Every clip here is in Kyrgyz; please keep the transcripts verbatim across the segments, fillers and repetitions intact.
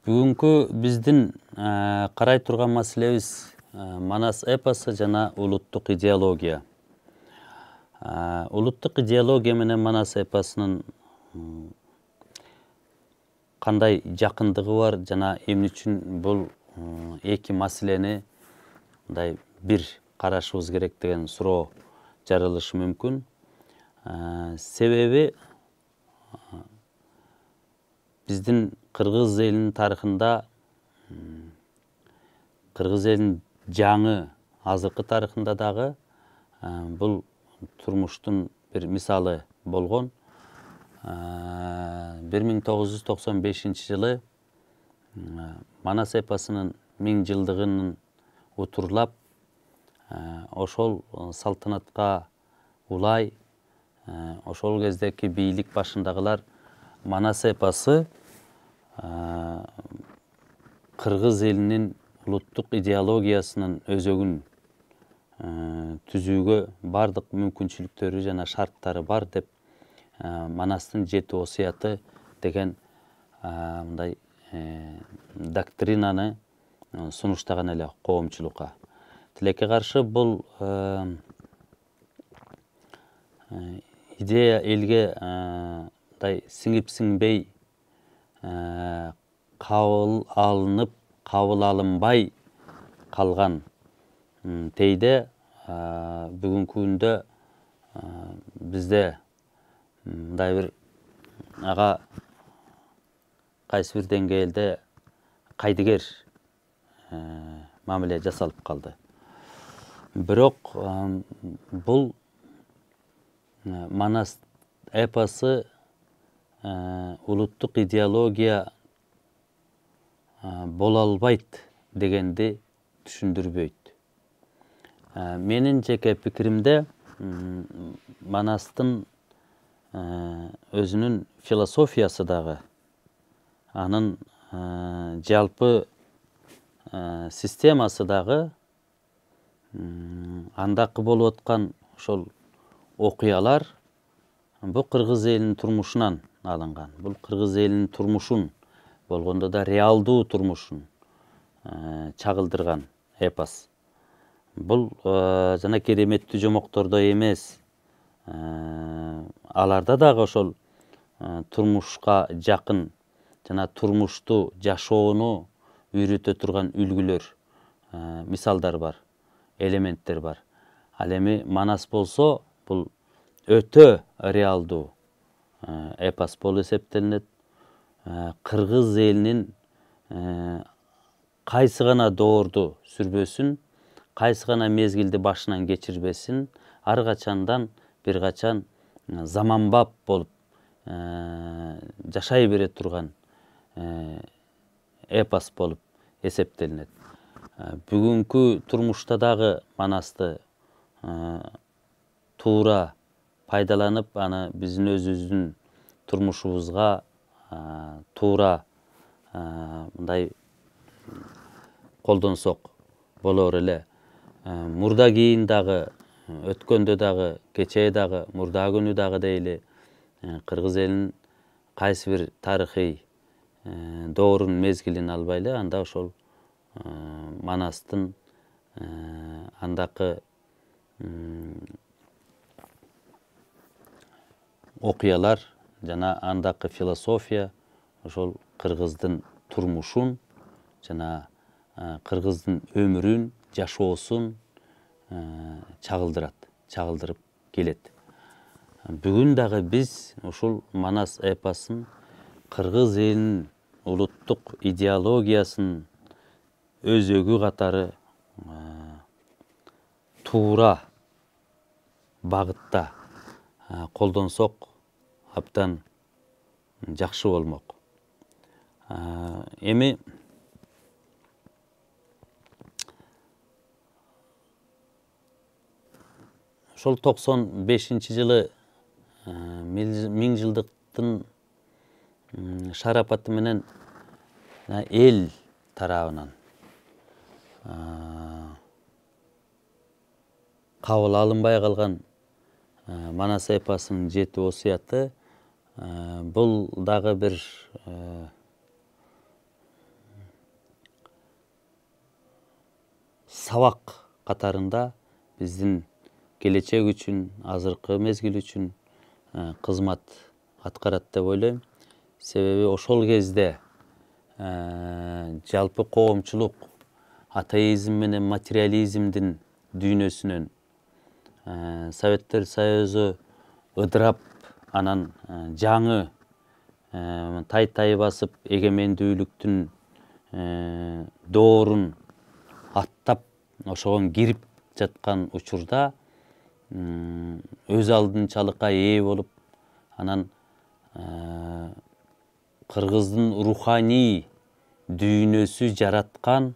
Бүгүнкү биздин карай турган маселебиз Манас эпосу жана улуттук идеология. Улуттук идеология менен Манас эпосунун кандай жакындыгы бар жана эмне үчүн бул эки маселени мындай бир карашыбыз керек деген суроо жаралышы мүмкүн. Себеби биздин кыргыз элинин тарыхында, кыргыз элинин жаңы азыркы тарыхында дагы бул турмуштун бир мисалы болгон. бир миң тогуз жүз токсон бешинчи жылы Манас эпосунун миң жылдыгын утурлап, ошол салтанатка улай ошол кездеки бийлик башындагылар Манас эпосу кыргыз элинин улуттук идеологиясынын өзөгүн түзүүгө бардык мүмкүнчүлүктөрү жана шарттары бар деп Манастын жети осуяты деген мындай доктринаны сунуштаган эле коомчулукка. Тилекке каршы бул идея элге мындай сиңип сиңбей, кабыл алынып, кабыл алынбай калган тейде бүгүнкү күндө бизде мындай бир ага кайсы бир деңгээлде кайдыгер мамиле жасалып калды. Бирок бул Манас эпосу улуттук идеология боло албайт дегенди түшүндүрбөйт. Менин жеке пикиримде Манастын өзүнүн философиясы дагы, анын жалпы системасы дагы, андакы болуп аткан ошол окуялар бул кыргыз элинин турмушунан алынган. Бул кыргыз элинин турмушун, болгондо да реалдуу турмушун чагылдырган эпос. Бул жана кереметтүү жомоктордой эмес, аларда дагы ошол турмушка жакын жана турмушту жашоону үйрөтө турган үлгүлөр, мисалдар бар, элементтер бар. Ал эми Манас болсо, бул өтө реалдуу эпос болуп эсептелинет. Кыргыз элинин кайсы гана доорду сүрбөсүн, кайсы гана мезгилди башынан кечирбесин, ар качандан бир качан заманбап болуп жашай бере турган эпос болуп эсептелинет. Бүгүнкү турмушта дагы Манасты туура пайдаланып, аны биздин өзүбүздүн турмушубузга туура мындай колдонсок болор эле. Мурда кийин дагы, өткөндө дагы, кечээ дагы, мурдагы күнү дагы дейли, кыргыз элинин кайсы бир тарыхый доорун, мезгилин албайлы, анда ошол Манастын андакы окуялар жана андакы философия ошол кыргыздын турмушун жана кыргыздын өмүрүн, жашоосун чагылдырат, чагылдырып келет. Бүгүн дагы биз ушул Манас эпосун кыргыз элинин улуттук идеологиясынын өзөгү катары туура багытта колдонсок абдан жакшы болмок. Эми ошол токсон бешинчи жылы миң жылдыктын шарапаты менен эл тарабынан кабыл алынбай калган Манас эпосунун жети осуяты бул дагы бир сабак катарында биздин келечек үчүн, азыркы мезгил үчүн кызмат аткарат деп ойлойм. Себеби ошол кезде жалпы коомчулук атеизм менен материализмдин дүйнөсүнөн Советтер Союзу ыдырап, анан жаңы тай-тай басып эгемендүүлүктүн доорун аттап ошогон кирип жаткан учурда өз алдынчалыкка ээ болуп, анан кыргыздын руханий дүйнөсү жараткан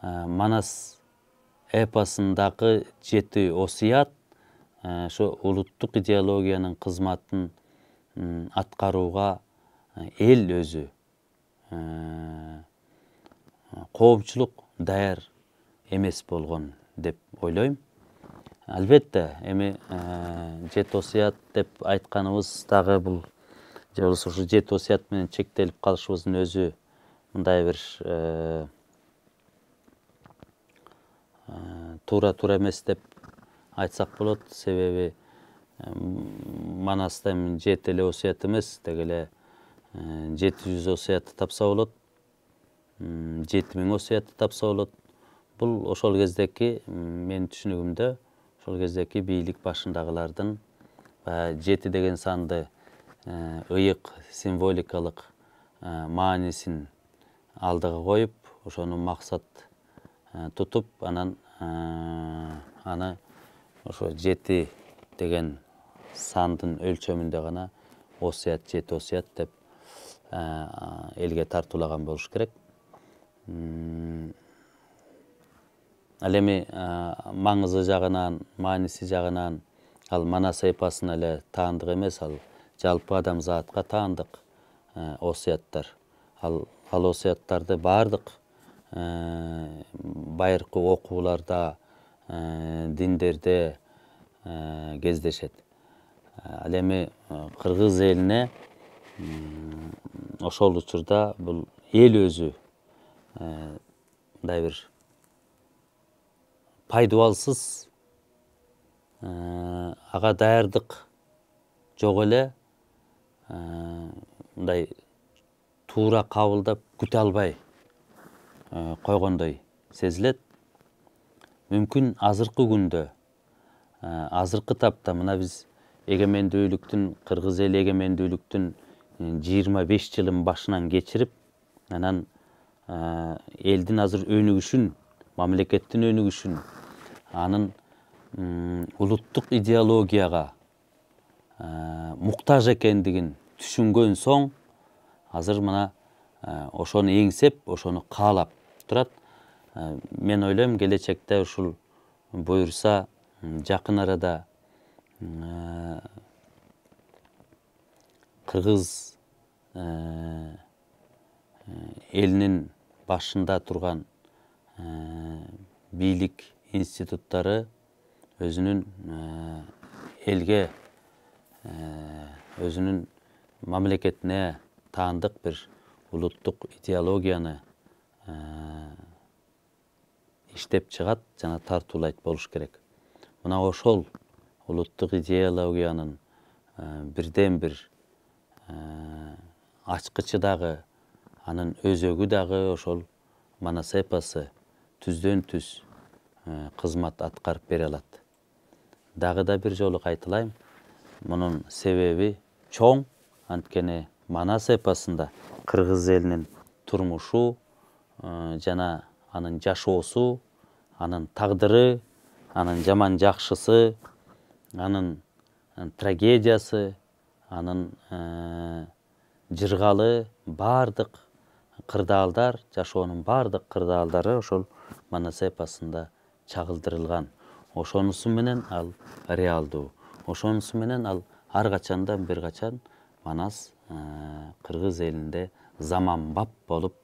Манас эпосундагы жети осуят ошо улуттук идеологиянын кызматын аткарууга эл өзү, коомчулук даяр эмес болгон деп ойлойм. Албетте, эми жети осуят деп айтканыбыз дагы бул же болбосо ушу жети осуят менен чектелип калышыбыздын өзү мындай бир туура туура эмес деп айтсак болот. Себеби Манаста эми жети эле осуят эмес, деги эле жети жүз осуятты тапса болот, жети миң осуятты тапса болот. Бул ошол кездеки, менин түшүнүгүмдө, ошол кездеки бийлик башындагылардын жети деген санды ыйык символикалык маанисин алдыга коюп, ошону максат тутуп, анан аны ошо жети деген сандын өлчөмүндө гана осуят, жети осуят деп элге тартуулаган болуш керек. Ал эми маңызы жагынан, мааниси жагынан ал Манас эпосуна эле таандык эмес, ал жалпы адамзатка таандык осуяттар. Ал осуяттарды баардык байыркы окууларда, диндерде кездешет. Ал эми кыргыз элине ошол учурда бул эл өзү мындай бир пайдубалсыз, ага даярдык жок эле, мындай туура кабылдап күтө албай койгондой сезилет. Мүмкүн азыркы күндө, азыркы тапта мына биз эгемендүүлүктүн, кыргыз эли эгемендүүлүктүн жыйырма беш жылын башынан кечирип, анан элдин азыр өнүгүшүн, мамлекеттин өнүгүшүн, анын улуттук идеологияга муктаж экендигин түшүнгөн соң, азыр мына ошону эңсеп, ошону каалап турат. Мен ойлойм, келечекте ушул буюрса, жакын арада кыргыз элинин башында турган бийлик институттары өзүнүн элге, өзүнүн мамлекетине таандык бир улуттук идеологияны иштеп чыгат жана тартуулайт болуш керек. Мына ошол улуттук идеологиянын бирден бир ачкычы дагы, анын өзөгү дагы ошол Манас эпосу түздөн түз кызмат аткарып бере алат. Дагы да бир жолу кайталайм, мунун себеби чоң, анткени Манас эпосунда кыргыз элинин турмушу жана анын жашоосу, анын тагдыры, анын жаман жакшысы, анын трагедиясы, анын жыргалы баардык кырдаалдар, жашоонун баардык кырдаалдары ошол Манас эпосунда чагылдырылган. Ошонусу менен ал реалдуу. Ошонусу менен ал ар качандан бир качан Манас кыргыз элинде заманбап болуп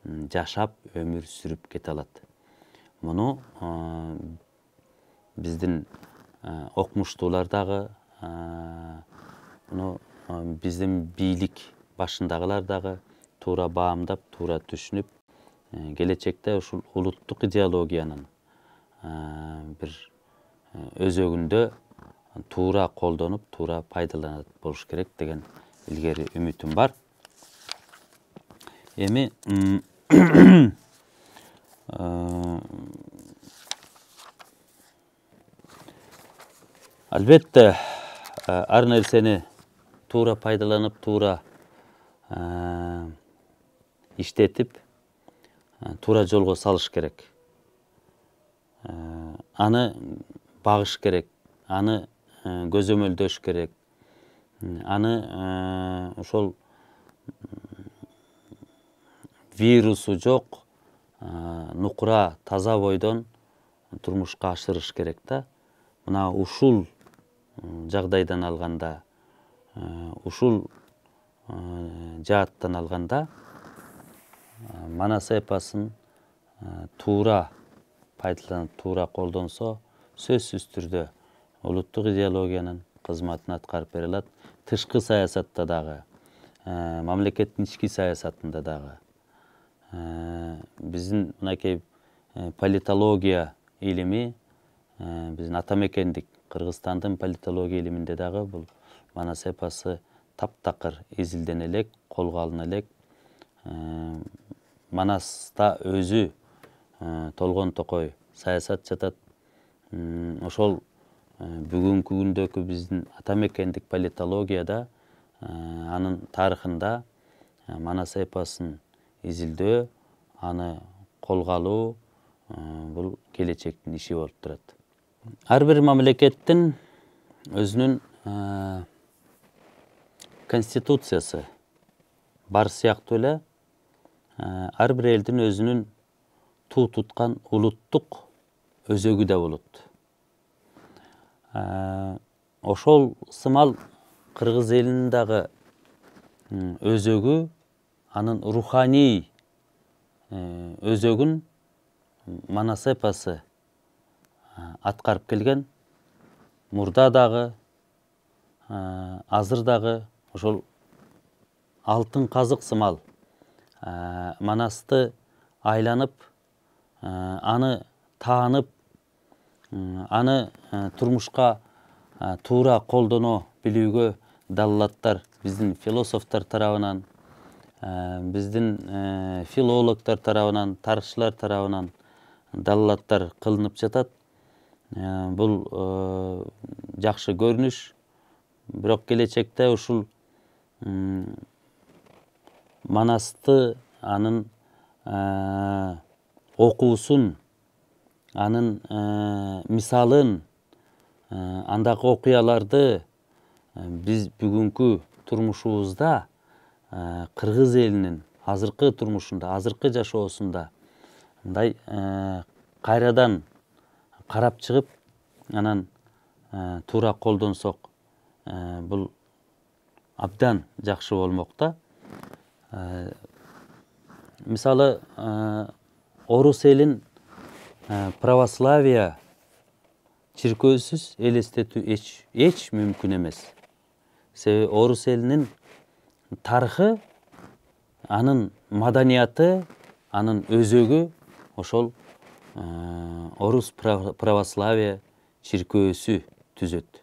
жашап, өмүр сүрүп кете алат. Муну биздин окумуштуулар дагы, муну биздин бийлик башындагылар дагы туура баамдап, туура түшүнүп, келечекте ушул улуттук идеологиянын бир өзөгүндө туура колдонуп, туура пайдаланат болуш керек деген илгери үмүтүм бар. Эми албетте ар нерсени туура пайдаланып, туура иштетип, туура жолго салыш керек. Аны багыш керек, аны көзөмөлдөш керек. Аны ошол вирусу жок, нукура, таза бойдон турмушка ашырыш керек да. Мына ушул жагдайдан алганда, ушул жааттан алганда манас эпосын туура пайдаланып, туура колдонсо, сөзсүз түрдө улуттук идеологиянын кызматын аткарып бере алат. Тышкы саясатта дагы, мамлекеттин ички саясатында дагы. Биздин мынакей политология илими, биздин ата мекендик Кыргызстандын политология илиминде дагы бул манас эпосы таптакыр изилдене элек, колго алына элек. Манаста өзү Толгон Токой саясат жатат. Ошол бүгүнкү күндөгү биздин ата мекендик политологияда, анын тарыхында манас эпосын изилдөө, аны колго алуу бул келечектин иши болуп турат. Ар бир мамлекеттин өзүнүн конституциясы бар сыяктуу эле, ар бир элдин өзүнүн туу туткан улуттук өзөгү да болот. Ошол сымал кыргыз элинин дагы өзөгү, анын руханий өзөгүн манас эпосы аткарып келген. Мурда дагы, азыр дагы ошол алтын казык сымал манасты айланып, аны таанып, аны турмушка туура колдоно билүүгө далилаттар биздин философтор тарабынан, биздин филологдор тарабынан, тарыхчылар тарабынан далилаттар кылынып жатат. Бул жакшы көрүнүш. Бирок келечекте ушул манасты, анын окуусун, анын мисалын, андагы окуяларды биз бүгүнкү турмушубузда, кыргыз элинин азыркы турмушунда, азыркы жашоосунда мындай кайрадан карап чыгып, анан туура колдонсок, бул абдан жакшы болмок да. Мисалы, орус элин православия чиркөөсүз элестетүү эч эч мүмкүн эмес. Себеби орус элинин тарыхы, анын маданияты, анын өзөгү ошол орус православия чиркөөсү түзөт.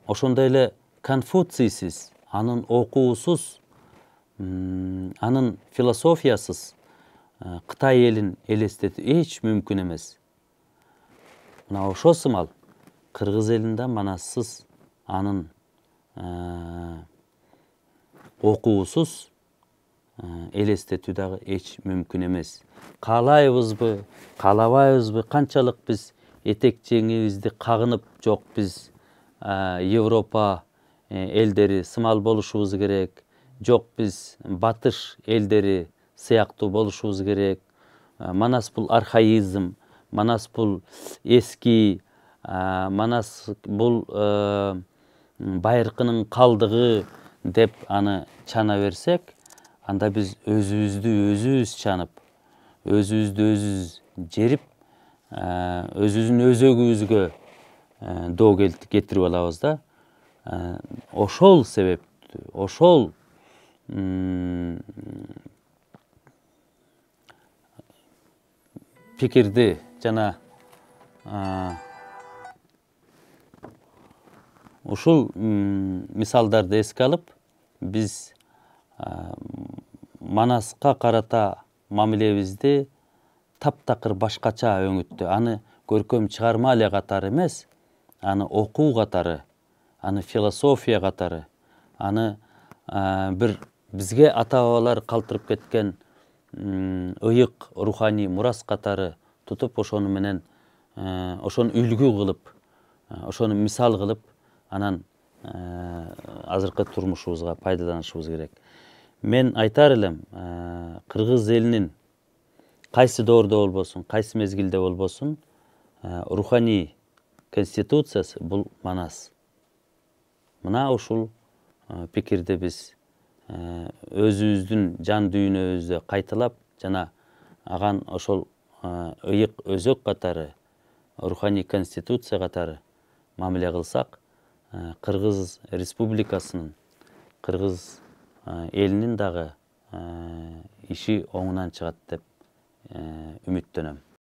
Ошондой эле Конфуцийсиз, анын окуусуз, анын философиясыз Кытай элин элестетүү эч мүмкүн эмес. Мына ошол сымал кыргыз элинде манассыз, анын окуусуз элестетүү дагы эч мүмкүн эмес. Каалайбызбы, каалабайбызбы, канчалык биз этек жеңибизди кагынып, жок биз Европа элдери сымал болушубуз керек, жок биз батыш элдери сыяктуу болушубуз керек, манас бул архаизм, манас бул эски, манас бул байыркынын калдыгы деп аны чана берсек, анда биз өзүбүздү өзүбүз чанып, өзүбүздү өзүбүз жерип, өзүбүздүн өзөгүбүзгө доо кетирип алабыз да. Ошол себептүү, ошол пикирди жана ушул мисалдарды эске алып, биз Манаска карата мамилебизди таптакыр башкача өңүттү. Аны көркөм чыгарма эле катары эмес, аны окуу катары, аны философия катары, аны бир бизге ата бабалар калтырып кеткен ыйык руханий мурас катары тутуп, ошону менен ошону үлгү кылып, ошону мисал кылып, анан азыркы турмушубузга пайдаланышыбыз керек. Мен айтар элем, кыргыз элинин кайсы доордо болбосун, кайсы мезгилде болбосун, руханий конституциясы бул Манас. Мына ушул пикирди биз өзүбүздүн жан дүйнөбүздө кайталап жана аган ошол ыйык өзөк катары, руханий конституция катары мамиле кылсак, Кыргыз Республикасынын, Кыргыз элинин дагы иши оңунан чыгат деп үмүттөнөм.